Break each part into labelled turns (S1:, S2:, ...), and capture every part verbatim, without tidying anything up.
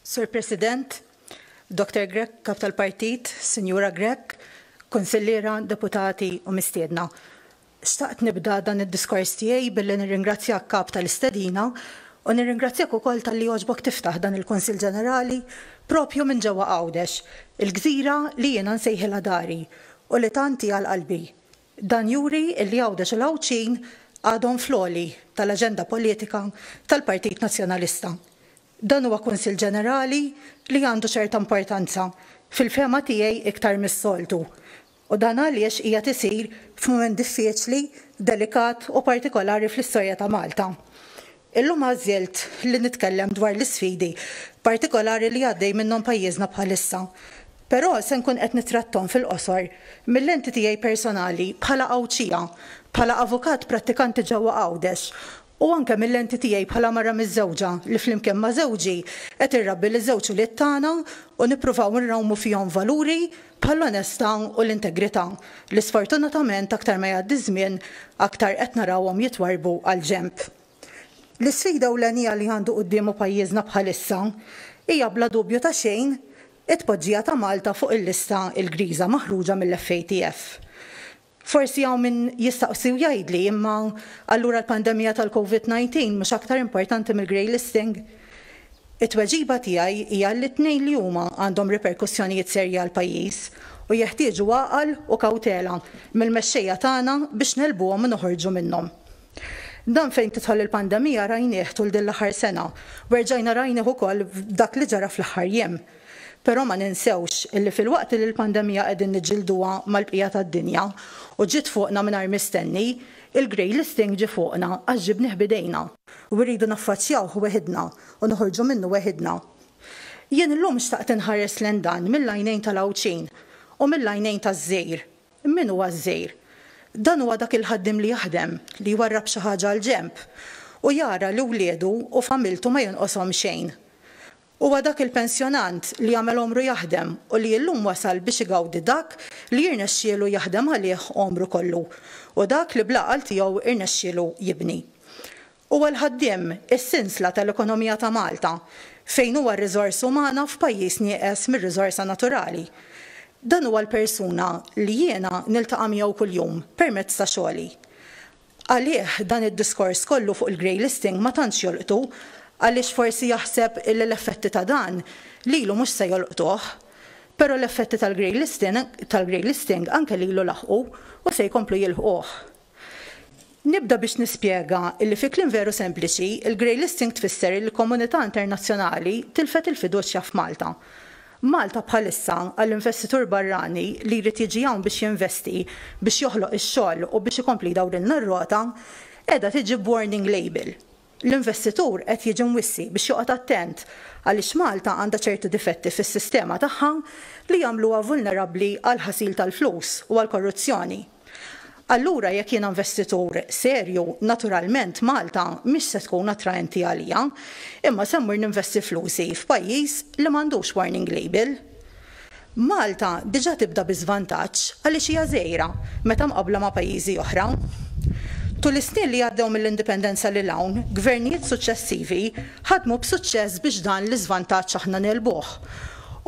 S1: Sur President, Doctor Grech, Kap tal-Partit, Sinjura Grech, Kunsilliera, Deputati u mistiedna. Xtaqt nibda dan id-diskors tiegħi billi nirringrazzjak, Kap, tal-istedina u nirringrazzjak ukoll talli għoġbok tiftaħ dan il-Kunsill Ġenerali propju minn ġewwa Għawdex, il-gżira li jiena nsejħilha dari u li tant hi għal qalbi. Dan juri li Għawdex u l-Għawdxin għadhom fl-għoli tal-aġenda politika tal-Partit Nazzjonalista. Dan huwa Kunsill Ġenerali li għandu ċerta importanza, fil-fehma tiegħi iktar mis-soltu. U dan għaliex qiegħed isir f'mument diffiċli, delikat u partikolari fl-istorja ta' Malta. Illum għażilt li nitkellem dwar l-isfidi partikolari li għaddej minnhom pajjiżna bħalissa. Però se nkun qed nitrattom fil-qosor mill-lenti tiegħi personali bħala Għawdxija, bħala avukat prattikanti ġewwa Għawdex, u anke mill-lenti tiegħi bħala mara miżżewġa li flimkien ma' żewġi qed irrabbi liż-żewġ ulied tagħna u nippruvaw nrawmu fihom valuri bħall-onestà u l-integrità li sfortunatament aktar ma jgħaddi żmien aktar qed narawhom jitwarrbu għal ġenb. L-isfida ewlenija li għandu quddiemu pajjiżna bħalissa hija bla dubju ta' xejn it-tpoġġija ta' Malta fuq il-lista l-griża maħruġa mill-F A T F. Forsi hawn min jistaqsi u jgħidli imma allura l-pandemija tal-COVID nineteen mhux aktar importanti mill-grey listing? It-tweġiba tiegħi hija li t-tnejn li huma għandhom riperkussjonijiet serji għal pajjiż u jeħtieġu għaqal u kawtela mill-mexxejja tagħna biex nelbuhom u noħorġu minnhom. Dan fejn tidħol il-pandemija rajnieh tul din l-aħħar sena u rġajna rajnieh ukoll dak li ġara fl-aħħar jiem. Però ma ninsewx illi fil-waqt li l-pandemija qegħdin niġġilduha mal-bqija tad-dinja u ġiet fuqna mingħajr mistenni, il-grey listing ġie fuqna għax ġibnieh bidejna u rridu naffaċċjawh weħidna u noħorġu minnu weħidna. Jien illum xtaqt inħares lejn dan mill-għajnejn tal-Għawdxin u mill-għajnejn taż-żgħir. Min huwa ż-żgħir? Dan huwa dak il-ħaddiem li jaħdem, li jwarrab xi ħaġa għal ġenb u jara li wliedu u familtu ma jonqoshom xejn. Huwa dak il-pensjonant li għamel għomru jaħdem u li llum wasal biex igawdi dak li jirnexxielu jaħdem għalih għomru kollu u dak li bl-għaqal tiegħu irnexxielu jibni. Huwa l-ħaddiem is-sinsla tal-ekonomija ta' Malta fejn huwa r-riżorsa umana f'pajjiż nieqes mir-riżorsa naturali. Dan huwa l-persuna li jiena niltaqa' miegħu kuljum permezz ta' xogħli. Għalih dan id-diskors kollu fuq il-grey listing ma tantx jolqtu għaliex forsi jaħseb illi l-effetti ta' dan lilu mhux se jolqtuh, però l-effetti tal-grey listing, tal-grey listing anke lilu laħqu u se jkomplu jilħquh. Nibda biex nispjega illi fi kliem veru sempliċi, il-grey listing tfisser li l-komunità internazzjonali tilfet il-fiduċja f'Malta. Malta bħalissa għall-investitur barrani li jrid jiġi hawn biex jinvesti, biex joħloq ix-xogħol u biex ikompli jdawrilna r-rota, qiegħda tiġi b'warning label. L-investitur qed jiġi mwissi biex joqgħod attent għaliex Malta għandha ċertu difetti fis-sistema tagħha li jagħmluha vulnerabbli għal ħasil tal-flus u għal korruzzjoni. Allura jekk jiena investitur serju, naturalment Malta mhix se tkun attraenti għalija, imma se mmur ninvesti flusi f'pajjiż li m'għandux warning label. Malta diġà tibda bi żvantaġġ għaliex hija żgħira meta mqabbla ma' pajjiżi oħra. Tul is-snin li għaddew mill-indipendenza lil hawn, gvernijiet suċċessivi ħadmu b'suċċess biex dan l-iżvantaġġ aħna nelbuh.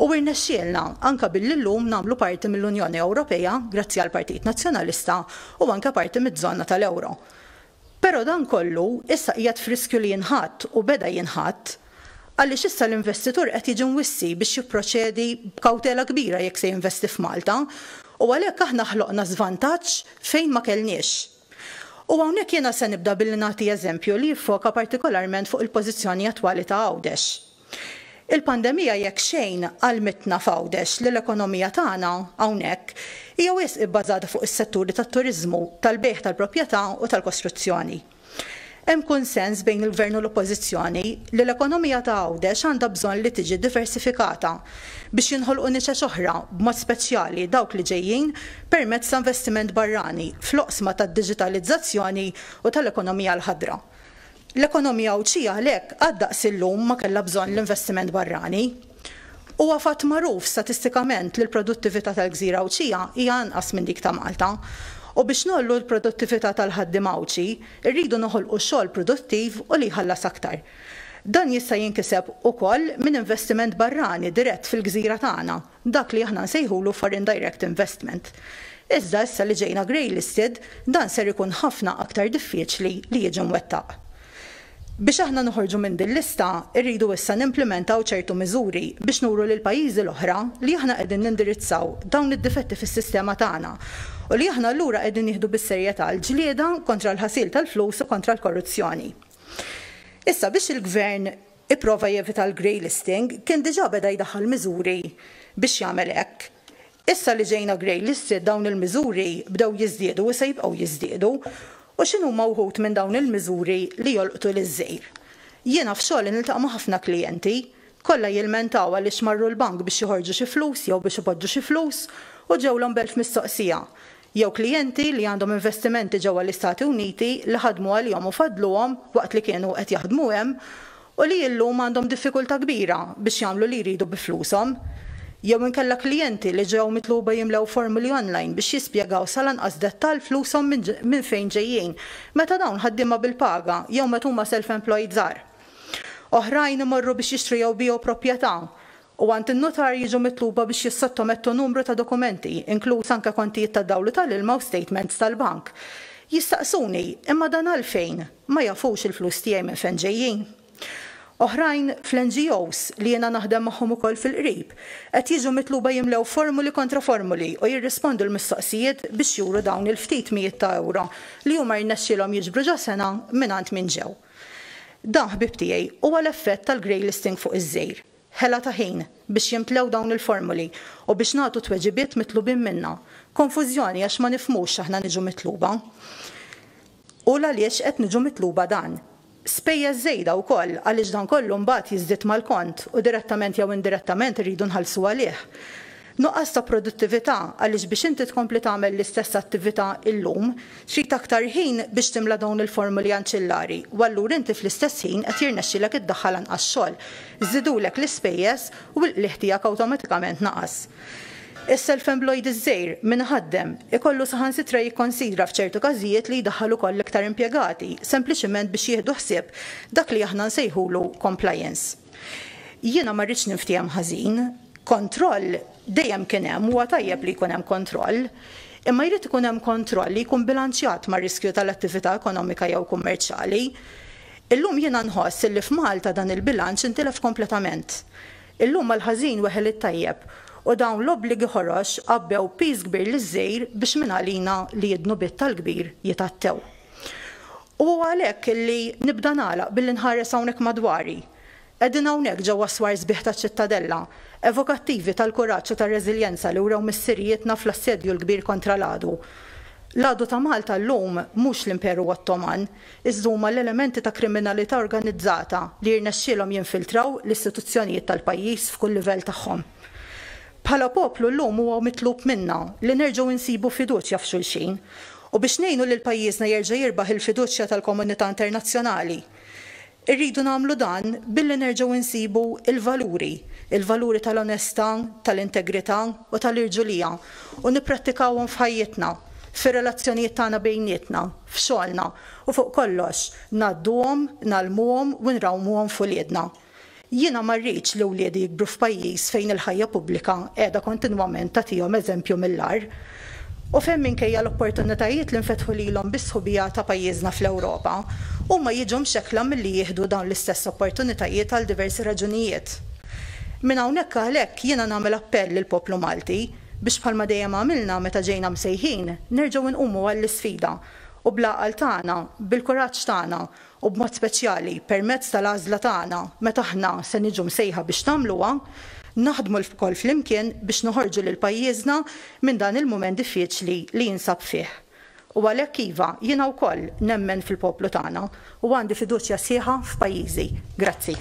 S1: U irnexxielna anke billi llum nagħmlu parti mill-Unjoni Ewropea grazzi għall-Partit Nazzjonalista u anke parti miż-żona tal-Ewro. Però dan kollu issa qiegħed f'riskju li jinħatt u beda jinħatt għaliex issa l-investitur qed jiġi mwissi biex jipproċedi b'kawtela kbira jekk se jinvesti f'Malta u għalhekk aħna ħloqna żvantaġġ fejn ma kellniex. U hawnhekk jiena se nibda billi nagħti eżempju li jiffoka partikolarment fuq il-pożizzjoni attwali ta' Għawdex. Il-pandemija jekk xejn għallmitna f'Għawdex li l-ekonomija tagħna hawnhekk hija wisq ibbażata fuq is-setturi tat-turiżmu, tal-bejgħ tal-proprjetà u tal-kostruzzjoni. Hemm kunsens bejn il-Gvern u l-Oppożizzjoni li l-ekonomija ta' Għawdex għandha bżonn li tiġi diversifikata biex jinħolqu niċeċ oħra b'mod speċjali dawk li ġejjin permezz ta' investiment barrani fl-oqsma tad-diġitalizzazzjoni u tal-ekonomija l-ħadra. L-ekonomija Għawdxija għalhekk għad daqs illum ma kellha bżonn l-investiment barrani. Huwa fatt magħruf statistikament li l-produttività tal-gżira Għawdxija hija anqas minn dik ta' Malta. U biex nollu l-produttività tal-ħaddiem Għawdxi, irridu noħolqu xogħol produttiv u li jħallas aktar. Dan jista' jinkiseb ukoll minn investiment barrani dirett fil-gżira tagħna, dak li aħna nsejħulu foreign direct investment. Iżda issa li ġejna grey listed, dan ser ikun ħafna aktar diffiċli li jiġi mwettaq. Biex aħna noħorġu minn din lista, irridu issa nimplementaw ċertu miżuri biex nuru lil pajjiżi l-oħra li aħna qegħdin nindirizzaw dawn id-difetti fis-sistema tagħna u li aħna allura qegħdin nieħdu bis-serjetà l-ġlieda kontra l-ħasil tal-flus u kontra l-korruzzjoni. Issa biex il-gvern ipprova jevita l-grey listing, kien diġà beda jdaħħal miżuri biex jagħmel hekk. Issa li ġejna grey listed, dawn il-miżuri bdew jiżdiedu u se jibqgħu jiżdiedu. U x'inhuma wħud minn dawn il-miżuri li jolqtu liż-żgħir? Jiena f'xogħol niltaqa' ma' ħafna klijenti, kollha jilmentaw għaliex marru l-bank biex joħorġu xi flus jew biex ipoġġu xi flus u ġewlhom b'elf mistoqsija. Jew klijenti li għandhom investimenti ġewwa l-Istati Uniti li ħadmu għalihom u fadluhom waqt li kienu qed jaħdmu hemm u li llum għandhom diffikultà kbira biex jagħmlu li jridu bi flushom. Jew inkella klijenti li ġew mitluba jimlew formuli online biex jispjegaw sal-anqas dettall flushom minn fejn ġejjin, meta dawn ħaddiema bil-paga jew meta huma self-employed żgħar. Oħrajn imorru biex jixtru jew jbigħu proprjetà u għand in-notar jiġu mitluba biex jissottomettu numru ta' dokumenti, inkluż anke kontijiet tad-dawl u tal-ilma u statements tal-bank. Jistaqsuni, imma dan għalfejn? Ma jafux il-flus tiegħi minn fejn ġejjin? Oħrajn fl-N G Os li jiena naħdem magħhom ukoll fil-qrib qed jiġu mitluba jimlew formuli kontra formuli u jirrispondu l-mistoqsijiet biex juru dawn il-ftit mijiet ta' euro li huma rnexxielhom jiġbru ġo sena mingħand min ġew. Dan, ħbib tiegħi, huwa l-effett tal-grey listing fuq iż-żgħir. Ħela ta' ħin biex jimtlew dawn il-formuli u biex nagħtu tweġibiet mitlubin minna. Konfużjoni għax ma nifhmux aħna niġu mitluba. U għaliex qed niġu mitluba dan. Spejjeż żejda wkoll għaliex dan kollu mbagħad jiżdied mal-kont u direttament jew indirettament irridu nħallsu għalih. Nuqqas ta' produttività għaliex biex inti tkompli tagħmel l-istess attività illum, trid aktar ħin biex timla dawn il-formuli anċillari u allura inti fl-istess ħin qed jirnexxilek iddaħħal anqas xogħol. Żidulek l-ispejjeż u l-qligħ tiegħek awtomatikament naqas. Is-self-employed iż-żgħir min ħaddem ikollu saħansitra jikkonsidra f'ċertu każijiet li jdaħħal ukoll iktar impjegati, sempliċiment biex jieħdu ħsieb dak li aħna nsejħulu compliance. Jiena ma rridx ninftiehem ħażin, kontroll dejjem kien hemm, huwa tajjeb li jkun hemm kontroll, imma jrid ikun hemm kontroll li jkun bilanċjat mar-riskju tal-attività ekonomika jew kummerċjali. Illum jiena nħoss li f'Malta dan il-bilanċ intilef kompletament. Illum mal-ħażin weħel it-tajjeb u dawn l-obbligi ħorox għabbew piż kbir liż-żgħir biex minn għalina li d-dnubiet tal-kbir jitattew. U għalhekk li nibda nagħlaq billi nħares hawnhekk madwari. Qegħdin hawnhekk ġewwa swar sbieħ taċ-Ċittadella, evokattivi tal-kuraġġ u tar-reżiljenza li wrew missirijietna fl-assedju l-kbir kontra l-għadu. L-għadu ta' Malta llum mhux l-Imperu Ottoman, iżda huma l-elementi ta' kriminalità organizzata li jirnexxielhom jinfiltraw l-istituzzjonijiet tal-pajjiż f'kull livell tagħhom. Bħala poplu llum huwa mitlub minna li nerġgħu nsibu fiduċja f'xulxin u biex ngħinu lil pajjiżna jerġa' jirbaħ il-fiduċja tal-komunità internazzjonali. Irridu nagħmlu dan billi nerġgħu nsibu il-valuri, il-valuri tal-onestà, tal-integrità u tal-irġulija u nipprattikawhom f'ħajjitna, fir-relazzjonijiet tagħna bejnietna, f'xogħolna u fuq kollox ngħadduhom, ngħallmuhom u nrawmuhom f'uliedna. Jiena ma rridx li wliedi jikbru f'pajjiż fejn il-ħajja pubblika qiegħda kontinwament tagħtihom eżempju mill-agħar. U fejn minkejja l-opportunitajiet li nfetħu lilhom bis-sħubija ta' pajjiżna fl-Ewropa, huma jiġu mxekkla milli jieħdu dawn l-istess opportunitajiet għal diversi raġunijiet. Minn hawnhekk għalhekk jiena nagħmel appell lill-poplu Malti biex, bħalma dejjem għamilna meta ġejna msejħin, nerġgħu nqumu għall-isfida u bl-għaqal tagħna, bil-kuraġġ tagħna u b'mod speċjali permezz tal-għażla tagħna meta aħna se niġu msejħa biex nagħmluha, naħdmu lkoll flimkien biex noħorġu lil pajjiżna minn dan il-mument diffiċli li jinsab fih. U għalhekk iva, jiena wkoll nemmen fil-poplu tagħna u għandi fiduċja sħiħa f'pajjiżi. Grazzi.